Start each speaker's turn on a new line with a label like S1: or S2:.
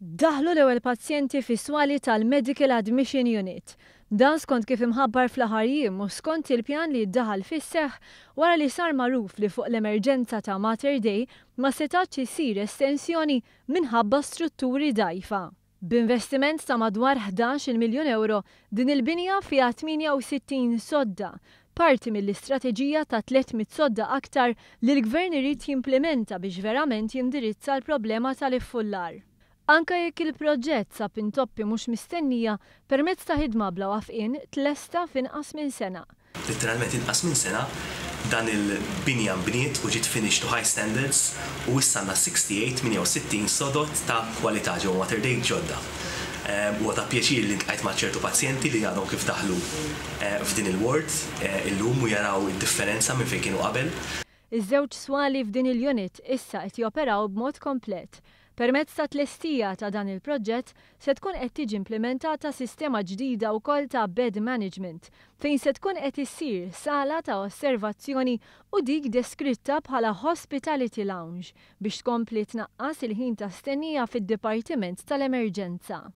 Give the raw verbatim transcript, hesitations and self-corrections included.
S1: Daħlu l-ewwel pazjenti fis-swali tal-Medical Admission Unit. Dan skont kif imħabbar fl-aħħar jiem u skont il-pjan li daħal fis-seħħ wara li sar magħruf li fuq l-emerġenza ta' Mater Dei ma setax isir estensjoni minħabba strutturi dgħajfa. B'investiment ta' madwar ħdax-il miljun euro, din il-binja fiha tmienja u sittin sodda, parti mill-istrateġija ta' tliet mitt sodda aktar li l-gvern irid jimplementa biex verament jindirizza l-problema tal-iffullar. Anka jekk il-proġett sab intoppi mhux mistennija, permezz ta' ħidma bla waqfien tlesta f'inqas minn sena.
S2: Literalment inqas minn sena dan il-binja nbniet u ġiet finished to high standards u issa għandna tmienja u sittin sodod ta' kwalità ġewwa Mater Dei ġodda. Huwa ta' pjaċir li ltqajt ma' ċertu pazjenti li għadhom kif daħlu eh, f'din il-ward eh, illum u jaraw id-differenza minn fejn kienu qabel.
S1: Iż-żewġ swali f'din il-unit issa qed joperaw b'mod komplet. Permezz ta' tlestija ta' dan il-proġett se tkun qed tiġi implementata sistema ġdida wkoll ta' bed management, fejn se tkun qed issir sala ta' osservazzjoni u dik deskritta bħala hospitality lounge biex tkompli tnaqqas il-ħin ta' stennija fid-dipartiment tal-emerġenza.